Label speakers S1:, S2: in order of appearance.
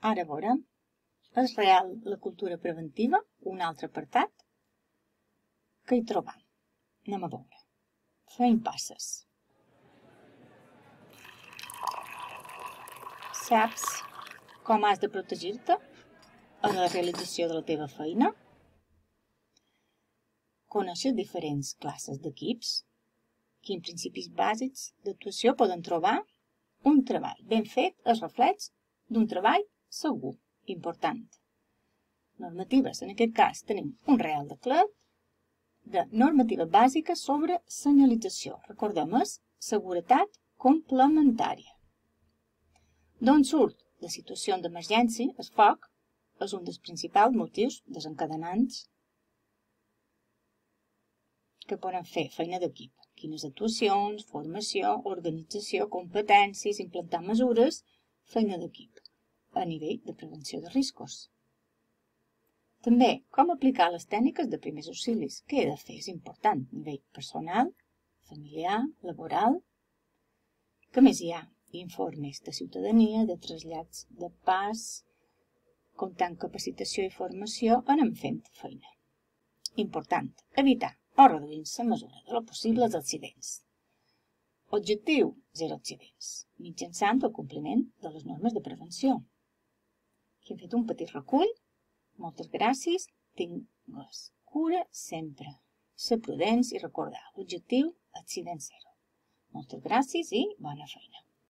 S1: Ara veurem, és real la cultura preventiva, un altre apartat, que hi trobam. Anem a veure. Fem passes. Saps com has de protegir-te en la realització de la teva feina? Coneixes diferents classes d'equips? Quins principis bàsics d'actuació poden trobar? Un treball ben fet és reflex d'un treball segur, important. Normatives, en aquest cas tenim un Reial Decret de normativa bàsica sobre senyalització. Recordem, és seguretat complementària. D'on surt? La situació d'emergència, el foc, és un dels principals motius desencadenants que poden fer feina d'equip. Quines actuacions, formació, organització, competències, implantar mesures, feina d'equip a nivell de prevenció de riscos. També, com aplicar les tècniques de primers auxilis. Què he de fer? És important. A nivell personal, familiar, laboral. Què més hi ha? Informes de ciutadania, de trasllats de pas, comptant capacitació i formació, anem fent feina. Important, evitar o reduir en mesura de lo possible els accidents. Objectiu, 0 accidents, mitjançant el compliment de les normes de prevenció. Aquí hem fet un petit recull. Moltes gràcies, tingues cura sempre. Ser prudents i recordar, objectiu, accident 0. Moltes gràcies i bona feina.